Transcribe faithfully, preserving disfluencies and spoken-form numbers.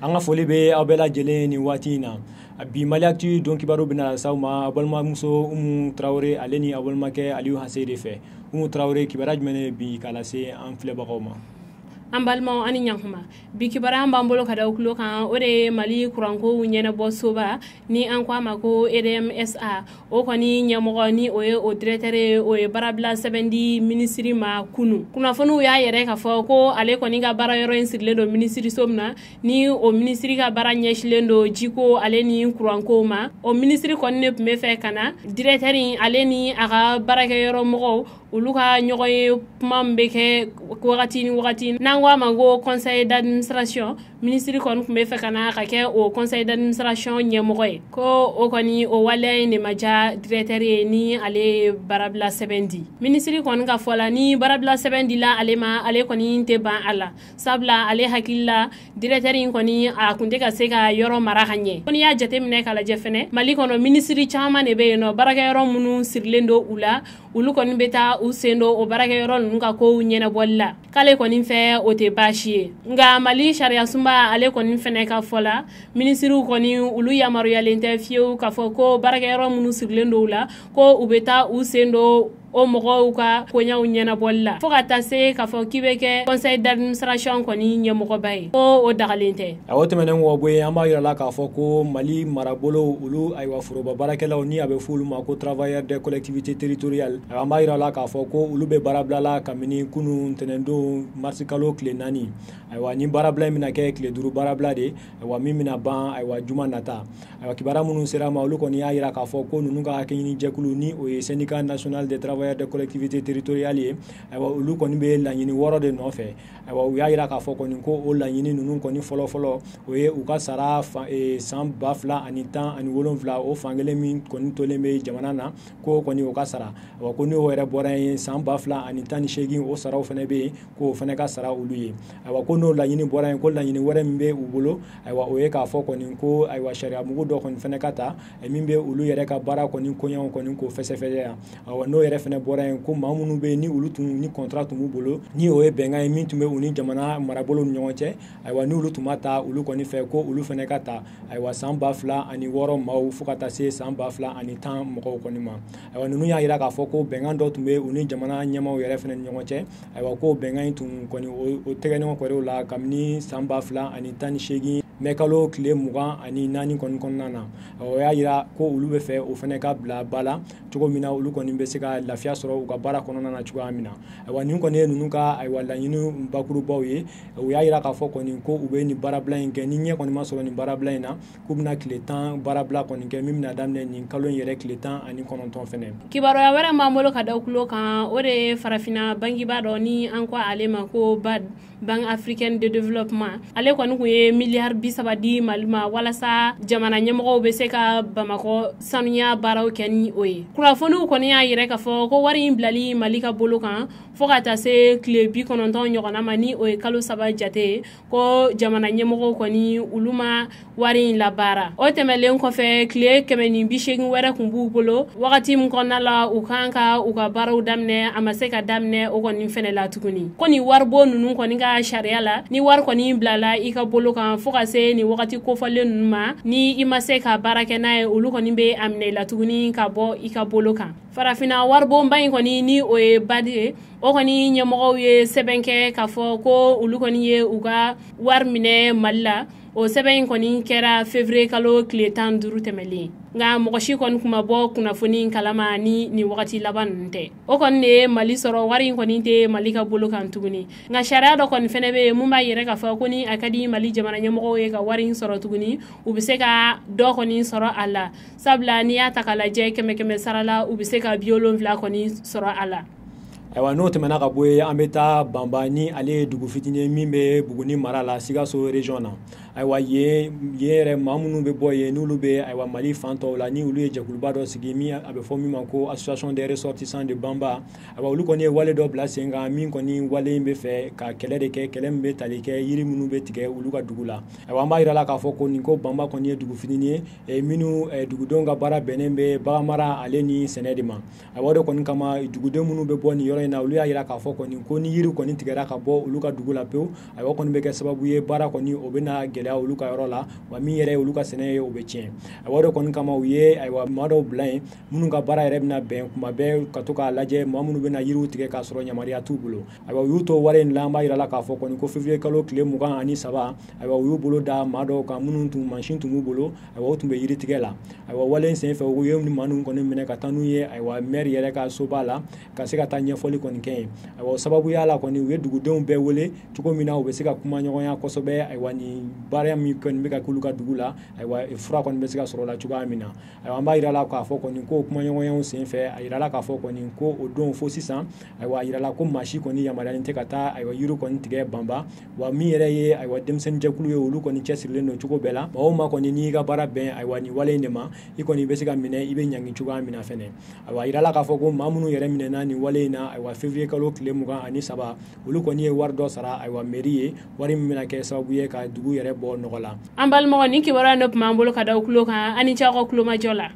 An ka foli bɛ aw bɛɛ lajɛlen nin waati in na. Bi Maliactu don kibaru bɛna s'aw ma aw balimamuso Umu Tarawele ale ni aw balimakɛ Aliyu Hase de fɛ. Umu Tarawele, kibaruya jumɛn bi k'a lase an filɛbagaw ma? An balimaw, ani ɲankuma. Bi kibaruya b'an bolo ka da tulo kan, o de ye Mali kuranko ɲɛnabɔ soba ni an ko a ma ko E D M S A, o kɔni ɲɛmɔgɔ ni o ye o directeur ye, o ye baarabila sɛbɛn di minisiri ma kunu. Kunnafoniw y'a yɛrɛ k'a fɔ ko ale kɔni ka baara yɔrɔ in sirilen don minisiriso min na, ni o minisiri ka baara ɲɛsilen don jiko ale ni kuranko ma, o minisiri kɔni de tun bɛ fɛ ka na directeur in ale ni a ka baarakɛyɔrɔ mɔgɔw, olu ka ɲɔgɔn ye kuma min bɛ kɛ wagati ni wagati n'an ko a ma ko conseil d'administration. Minisiri kɔni tun bɛ fɛ ka na ka kɛ o conseil d'administration ɲɛmɔgɔ ye, ko o kɔni o waleya in de ma diya directeur ye ni ale ye baarabila sɛbɛn di. Minisiri kɔni ka fɔ la, ni baarabila sɛbɛn dila ale ma, ale kɔni tɛ ban a la, sabula ale hakili la, directeur in kɔni a kun tɛ ka se ka yɔrɔ mara ka ɲɛ. Ko n'i y'a jateminɛ k'a lajɛ fɛnɛ, Mali kɔnɔ minisiri caman de bɛ yen nɔ, baarakɛyɔrɔ minnu sirilen don u la, olu kɔni bɛ taa u sen don o baarakɛyɔrɔ ninnu ka kow ɲɛnabɔli la, k'ale kɔni fɛ o tɛ baasi ye. Nka Mali sariya sunba ale kɔni fɛnɛ ka fɔ la, minisiriw kɔni olu yamaruyalen tɛ fiyewu k'a fɔ ko baarakɛyɔrɔ minnu sirilen don u la, ko u bɛ taa u sen don o mɔgɔw ka koɲaw ɲɛnabɔli la, fo ka taa se k'a fɔ k'i bɛ kɛ conseil d'administration kɔni ɲɛmɔgɔba ye, ko o dagalen tɛ. O tɛmɛnen kɔ bɔ yen, an b'a yira la k'a fɔ ko Mali marabolo olu, ayiwa, foroba baarakɛlaw ni a bɛ fɔ olu ma ko travailleurs des collectivités territoriales, an b'a yira la k'a fɔ ko olu bɛ baarabila la kabini kunun ntɛnɛndon marisi kalo tile naani. Ayiwa, ni baarabila in bɛna kɛ tile duuru baarabila de, ayiwa, min bɛna ban, ayiwa, juma nata. Ayiwa, kibaruya minnu sera ma, olu kɔni y'a yira k'a fɔ ko ninnu ka hakɛɲini jɛkulu ni o ye Syndicat national des travailleurs des collectivités territoriales ye, ayiwa, olu kɔni bɛ laɲini wɔɔrɔ de nɔfɛ. Ayiwa, u y'a yira k'a fɔ kɔni ko o laɲini ninnu kɔni fɔlɔ-fɔlɔ, o ye u ka sara san ba fila ani tan ani wolonwula, o fankelen min kɔni tolen bɛ jamana na, ko kɔni o ka sara. Ayiwa, ko n'o yɛrɛ bɔra yen, san ba fila ani tan ni seegin, o saraw fana bɛ yen, k'o fana ka sara olu ye. Ayiwa, ko n'o laɲini bɔra yen, ko laɲini wɛrɛ min bɛ u bolo, ayiwa, o ye k'a fɔ kɔni ko, ayiwa, sariya mugu dɔ kɔni fana ka ta min bɛ olu yɛrɛ ka baara kɔni koɲɛw kɔni k'o fɛsɛfɛsɛ. Ayiwa, n'o yɛrɛ fana bɔra yen, ko maa minnu bɛ yen ni olu tun ni contrat tun b'u bolo, ni o ye bɛnkan ye min tun bɛ u ni jamana marabolo ni ɲɔgɔn cɛ, ayiwa, n'olu tun ma ta olu kɔni fɛ, ko olu fana ka ta, ayiwa, san ba fila ani wɔɔrɔ maaw fo ka taa se san ba fila ani tan mɔgɔw kɔni ma. Ayiwa, ninnu y'a jira k'a fɔ ko bɛnkan dɔ tun bɛ u ni jamana ɲɛmaaw yɛrɛ fana ni ɲɔgɔn cɛ. Ayiwa, ko bɛnkan in tun kɔni o tɛgɛ ɲɔgɔn kɔrɔw la kabini san ba fila ani tan ni seegin mɛ kalo tile mugan ani naani kɔni kɔnɔna na. O y'a jira ko olu bɛ fɛ o fana ka bila ba la cogo min na, olu kɔni bɛ se ka lafiya sɔrɔ u ka baara kɔnɔna na cogoya min na. Ayiwa, nin kɔni ye ninnu ka, ayiwa, laɲini bakurubaw ye. U y'a jira k'a fɔ kɔni ko u bɛ nin baarabila in kɛ, ni ɲɛ kɔni ma sɔrɔ nin baarabila in na, k'u bɛna tile tan baarabila kɔni kɛ min bɛna daminɛ nin kalo in yɛrɛ tile tan ani kɔnɔntɔn fɛnɛ. Kibaruya wɛrɛ b'an bolo ka da tulo kan, o de ye farafinna bankiba dɔ ni an ko ale ma ko BAD, Banque africaine de développement, ale kɔni kun ye miliyari bi saba di Mali ma walasa jamana ɲɛmɔgɔw bɛ se ka Bamakɔ sanuya baaraw kɛ ni o ye. Kunnafoniw kɔni y'a yɛrɛ k'a fɔ ko wari in bilali Mali ka bolo kan fo ka taa se tile bi kɔnɔntɔn ɲɔgɔnna ma, ni o ye kalo saba jate ye, ko jamana ɲɛmɔgɔw kɔni olu ma wari in labaara. O tɛmɛlen kɔfɛ, tile kɛmɛ ni bi seegin wɛrɛ kun b'u bolo wagati min kɔnɔna la u kan ka u ka baaraw daminɛ, a ma se ka daminɛ o kɔni fɛnɛ la tuguni. Ko nin waribon ninnu kɔni ka sariya la, ni wari kɔni bilala i ka bolo kan fo ka se nin wagati kofɔlen ninnu ma, ni i ma se ka baara kɛ n'a ye, olu kɔni bɛ a minɛ i la tuguni ka bɔ i ka bolo kan. Farafinna waribonba in kɔni ni o ye BAD ye, o kɔni ɲɛmɔgɔw ye sɛbɛn kɛ k'a fɔ ko olu kɔni ye u ka wari minɛ Mali la. O sɛbɛn in kɔni kɛra février kalo tile tan duuru tɛmɛlen, nka mɔgɔ si kɔni kun ma bɔ kunnafoni kalama ni nin wagati laban ninnu tɛ. O kɔni de ye Mali sɔrɔ, wari in kɔni tɛ Mali ka bolo kan tuguni. Nka sariya dɔ kɔni fɛnɛ bɛ yen mun b'a yɛrɛ k'a fɔ ko ni a ka di Mali jamana ɲɛmɔgɔw ye ka wari in sɔrɔ tuguni, u bɛ se ka dɔ kɔni sɔrɔ a la, sabula n'i y'a ta k'a lajɛ, kɛmɛ kɛmɛ sara la, u bɛ se ka bi wolonwula kɔni sɔrɔ a la. Ayiwa, n'o tɛmɛna ka bɔ yen, an bɛ taa Banba, ni ale ye dugu fitinin min bɛ Buguni mara la, Sikaso région na. Ayiwa, yen yen yɛrɛ, maa minnu bɛ bɔ yen, n'olu bɛ, ayiwa, Mali fan tɔw la, ni olu ye jɛkuluba dɔ sigi min a bɛ fɔ min ma ko Association des ressortissants de Banba, ayiwa, olu kɔni ye wale dɔ bila sen kan min kɔni wale in bɛ fɛ ka kɛlɛ de kɛ, kɛlɛ min bɛ tali kɛ yiri minnu bɛ tigɛ olu ka dugu la. Ayiwa, an b'a yira la k'a fɔ ko nin ko Banba kɔni ye dugu fitinin ye minnu dugudenw ka baara bɛnnen bɛ baganmara ale ni sɛnɛ de ma. Ayiwa, o de kɔni kama, duguden minnu bɛ bɔ nin yɔrɔ in in na, olu y'a jira k'a fɔ kɔni ko ni yiri kɔni tigɛra ka bɔ olu ka dugu la pewu, ayiwa kɔni bɛ kɛ sababu ye baara kɔni o bɛna gɛlɛya olu ka yɔrɔ la, wa min yɛrɛ ye olu ka sɛnɛ ye, o bɛ tiɲɛ. Ayiwa o de kɔni kama u ye ayiwa maa dɔw bila yen minnu ka baara yɛrɛ bɛna bɛn kuma bɛɛ ka to k'a lajɛ maa minnu bɛna yiriw tigɛ k'a sɔrɔ yamaruya t'u bolo. Ayiwa u y'u to wale in la, an b'a jira la k'a fɔ kɔni ko février kalo tile mugan ani saba, ayiwa u y'u bolo da maa dɔw kan minnu tun mansin tun b'u bolo, ayiwa u tun bɛ yiri tigɛ la. Ayiwa wale in senfɛ u ye maa ninnu kɔni minɛ ka taa n'u ye ayiwa maire yɛrɛ ka soba la ka se ka taa ɲɛfɔli kɔni kɛ yen. Ayiwa o sababuya la kɔni u ye dugudenw bɛɛ wele cogo min na u bɛ se ka kuma ɲɔgɔnya kosɛbɛ, ayiwa nin baara min kɔni bɛ ka k'olu ka dugu la, ayiwa fura kɔni bɛ se ka sɔrɔ o la cogoya min na. Ayiwa an b'a jira la k'a fɔ kɔni ko kumaɲɔgɔnyaw senfɛ, a yirala k'a fɔ kɔni ko o don fo sisan, ayiwa a yirala ko maa si kɔni yamaruyalen tɛ ka taa ayiwa yiri kɔni tigɛ banba, wa min yɛrɛ ye ayiwa denmisɛnninjɛkulu ye, olu kɔni cɛsirilen don cogo bɛɛ la. Maa o maa kɔni n'i ka baara bɛn ayiwa nin wale in de ma, i kɔni bɛ se ka minɛ, i bɛ ɲangi cogoya min na fɛnɛ. Ayiwa a yirala k'a fɔ ko maa minnu yɛrɛ minɛna nin wale in na, ayiwa février kalo tile mugan ani saba, olu kɔni ye wari dɔ sara ayiwa mairie ye, wari min bɛna kɛ sababu ye ka dugu yɛrɛ bɔ nɔgɔ la. An balimaw, nin kibaruya in de tun b'an bolo ka da aw tulo kan. Ani cɛ aw ka kulomajɔ la.